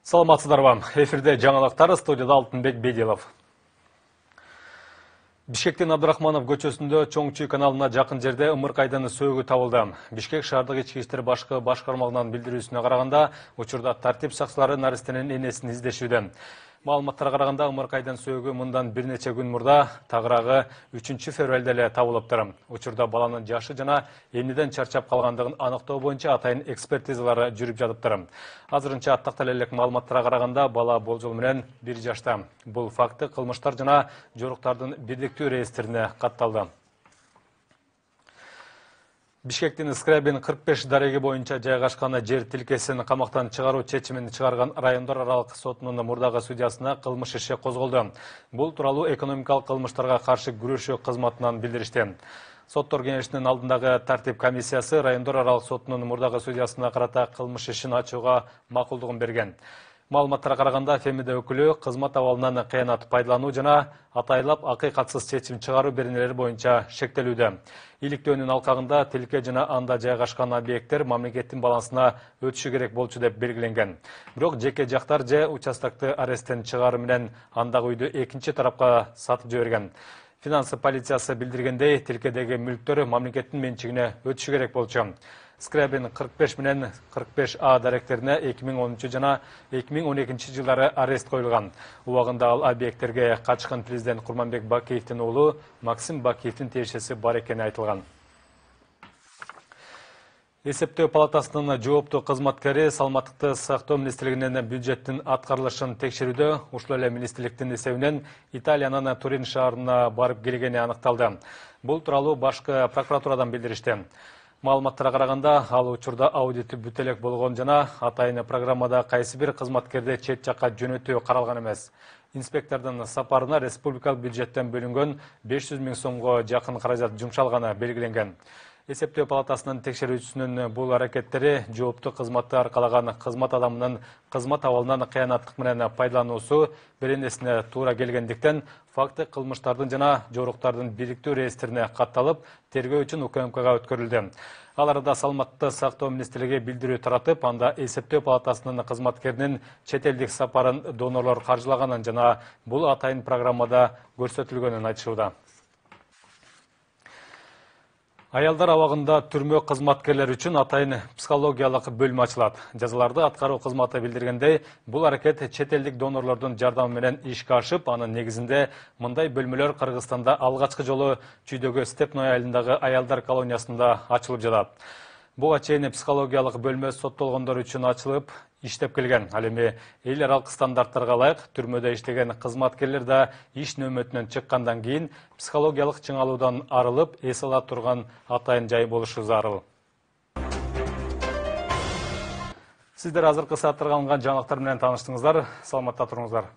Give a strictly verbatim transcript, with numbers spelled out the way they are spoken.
Саламатсыздарбы? Эфирде жаңалыктар, студияда Алтынбек Бедилов. Бишкектин Абдрахманов көчөсүндө Чоңчуй каналына жакын жерде ымыркайдын сөөгү табылды. Бишкек шаардык ички иштер башкы башкармалыгынын билдирүүсүнө караганда, учурда тартип сакчылары наристенин энесин издешүүдө. Маалыматтарга караганда, ымыркайдын сөөгү мындан бир нече күн мурда тагыраагы үчүнчү февралда эле табылыптыр. Учурда баланын жашы жана эмнеден чарчап калгандыгын аныктоо боюнча атайын экспертизалары жүрүп жатыптыр. Азырынча тактала элек маалыматтарга караганда, бала болжол менен бир жашта. Бул факты кылмыштар жана жоруктардын бирдиктүү реестрине катталды. Бишкектин Скрябин кырк беш дареги боюнча жайгашкан жер тилкесин камактан чыгаруу чечимин чыгарган райондор аралык сотунун мурдагы судьясына кылмыш иши козголду. Бул тууралуу экономикалык кылмыштарга каршы күрөшүү кызматынан билдиришти. Соттор кеңешинин алдындагы тартип комиссиясы райондор аралык сотунун мурдагы судьясына карата кылмыш ишин ачууга макулдугун берген. Маалыматтарга караганда, Фемиде өкүлү кызмат абалынан кыянат пайдалануу жана атайлап акыйкатсыз чечим чыгаруу беренелери боюнча шектелүүдө. Иликтөөнүн алкагында тилке жана анда жайгашкан объекттер мамлекеттин балансына өтүшү керек болчу деп белгиленген. Бирок жеке жактар же участокты аресттен чыгаруу менен андагы үйдү экинчи тарапка сатып жиберген. Финанс полициясы билдиргендей, тилкедеги мүлктөр мамлекеттин менчигине өтүшү керек болчу. Скрябин кырк беш менен кырк беш А даректерине эки миң онунчу жана эки миң он экинчи жылдары арест коюлган. Убагында ал объекттерге качкан президент Курманбек Бакиевдин уулу Максим Бакиевдин тиешеси бар экени айтылган. Эсептөө палатасынын жооптуу кызматкери Саламаттыкты сактоо министрлигинин бюджеттин аткарылышын текшерүүдө ушул эле министрликтин эсебинен Италиянын Турин шаарына барып келгени аныкталды. Бул тууралуу башкы прокуратурадан билдиришти. Маалыматтарга караганда, ал учурда аудити бүтө элек болгон жана атайын программада кайсы бир кызматкерди чет жакка жөнөтүү каралган эмес. Инспектордун сапарына республикалык бюджеттен бөлүнгөн беш жүз миң сомго жакын каражат жумшалганы белгиленген. Эсептөө палатасынын текшерүүчүсүнүн бул аракеттери жооптуу кызматты аркалаган кызмат адамынын кызмат абалынан кыянаттык менен пайдалануусу беренесине туура келгендиктен факты кылмыштардын жана жоруктардын бирдиктүү реестрине катталып, тергөө үчүн УКМКга өткөрүлдү. Ал арада Саламатты сактоо министрлиги билдирүү таратып, анда эсептөө палатасынын кызматкеринин чет элдик сапарын донорлор каржылаганын жана бул атайын программада көрсөтүлгөнүн айтышууда. Аялдар абагында түрмө кызматкерлери үчүн атайын психологиялык бөлмө ачылат. Жазаларды аткаруу кызматы билдиргендей, бул аракет чет элдик донорлордун жардамы менен ишке ашып, анын негизинде мындай бөлмөлөр Кыргызстанда алгачкы жолу Чүйдөгү Степной айылындагы аялдар колониясында ачылып жатат. Буга чейин психологиялык бөлмө соттолгондор үчүн ачылып, иштеп келген. Ал эми эл аралык стандарттарга ылайык түрмөдө иштеген кызматкерлер да иш нөөмөтүнөн чыккандан кийин психологиялык чыңалуудан арылып, эс ала турган атайын жай болушу зарыл. Сиздер азыркы сааттарга алынган жаңылыктар менен тааныштыңыздар. Саламатта туруңуздар.